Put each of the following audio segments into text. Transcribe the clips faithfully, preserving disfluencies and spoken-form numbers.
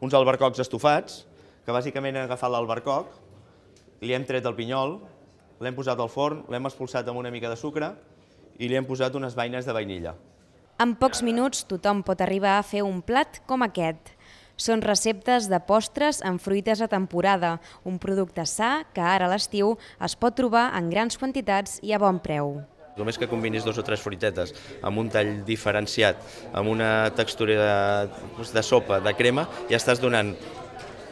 uns albercocs estofats, que bàsicament hem agafat l'albercoc, li hem tret el pinyol, l'hem posat al forn, l'hem expulsat amb una mica de sucre i li hem posat unes beines de vainilla. En pocs minuts tothom pot arribar a fer un plat com aquest. Són receptes de postres amb fruites a temporada, un producte sa que ara a l'estiu es pot trobar en grans quantitats i a bon preu. Només que combinis dos o tres fruitetes amb un tall diferenciat, amb una textura de, de sopa, de crema, ja estàs donant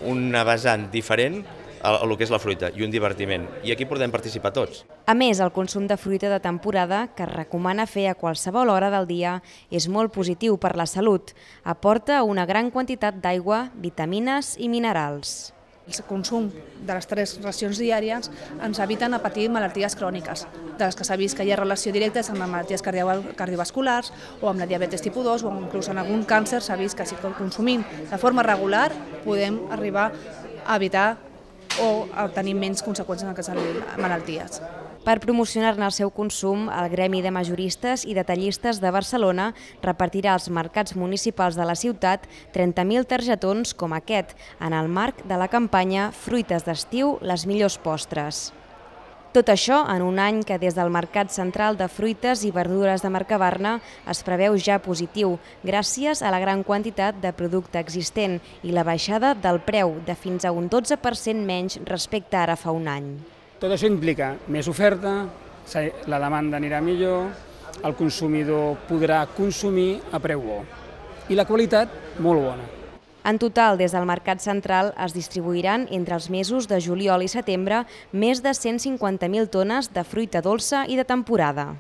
una vessant diferent a el que és la fruita i un divertiment. I aquí podem participar tots. A més, el consum de fruita de temporada, que es recomana fer a qualsevol hora del dia, és molt positiu per la salut. Aporta una gran quantitat d'aigua, vitamines i minerals. El consum de les tres racions diàries ens eviten a patir malalties cròniques, de les que s'ha vist que hi ha relació directa amb malalties cardiovasculars o amb la diabetes tipus dos o inclús en algun càncer s'ha vist que si consumim de forma regular podem arribar a evitar o a tenir menys conseqüències en aquestes malalties. Per promocionar-ne el seu consum, el Gremi de Majoristes i Detallistes de Barcelona repartirà als mercats municipals de la ciutat trenta mil targetons com aquest, en el marc de la campanya Fruites d'estiu, les millors postres. Tot això en un any que des del Mercat Central de Fruites i Verdures de Mercabarna es preveu ja positiu, gràcies a la gran quantitat de producte existent i la baixada del preu de fins a un dotze per cent menys respecte ara fa un any. Tot això implica més oferta, la demanda anirà millor, el consumidor podrà consumir a preu bo i la qualitat molt bona. En total, des del Mercat Central es distribuiran entre els mesos de juliol i setembre més de cent cinquanta mil tones de fruita dolça i de temporada.